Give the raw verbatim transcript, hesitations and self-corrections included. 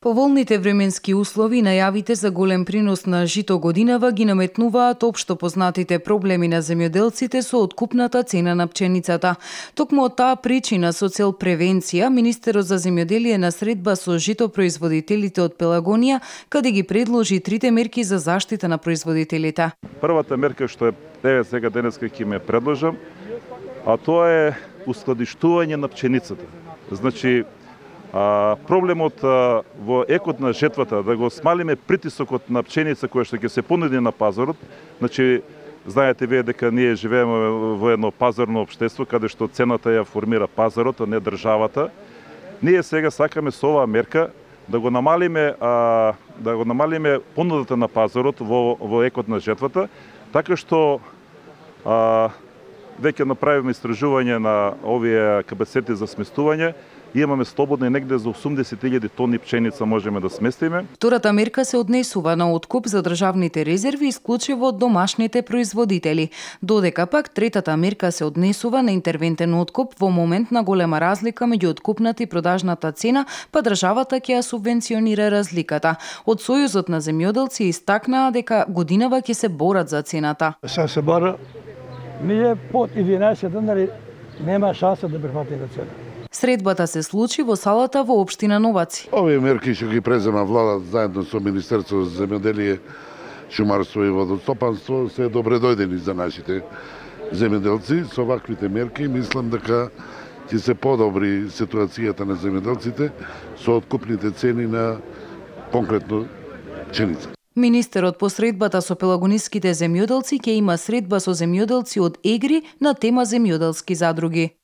Поволните временски услови и најавите за голем принос на жито годинава ги наметнуваат општо познатите проблеми на земјоделците со откупната цена на пченицата. Токму од таа причина со цел превенција, Министерот за земјоделие на средба со житопроизводителите од Пелагонија, каде ги предложи трите мерки за заштита на производителите. Првата мерка што е еве сега денеска ќе ме предложам, а тоа е ускладиштување на пченицата. Значи, А, проблемот а, во екот на жетвата, да го смалиме притисокот на пченица која што ќе се понуди на пазарот. Значи, знаете вие дека ние живееме во едно пазарно општество каде што цената ја формира пазарот, а не државата. Ние сега сакаме со оваа мерка да го намалиме а, да го намалиме понудата на пазарот во во екот на жетвата, така што а, веќе направиме истражување на овие капацитети за сместување. Имаме слободно и негде за осумдесет илјади тони пченица можеме да сместиме. Втората мерка се однесува на откуп за државните резерви исклучиво од домашните производители, додека пак третата мерка се однесува на интервентен откуп во момент на голема разлика меѓу откупната и продажната цена, па државата ќе ја субвенционира разликата. Од Сојузот на земјоделци истакнаа дека годинава ќе се борат за цената. Се се бора, ние под единаесет денари нема шанса да прифатиме цена. Средбата се случи во салата во општина Новаци. Овие мерки што ги презема владата заедно со Министерството за земјоделие, шумарство и водостопанство се добре дојдени за нашите земјоделци. Со ваквите мерки мислам дека ќе се подобри ситуацијата на земјоделците со откупните цени на конкретно пченица. Министерот по средбата со пелагониските земјоделци ќе има средба со земјоделци од Егри на тема земјоделски задруги.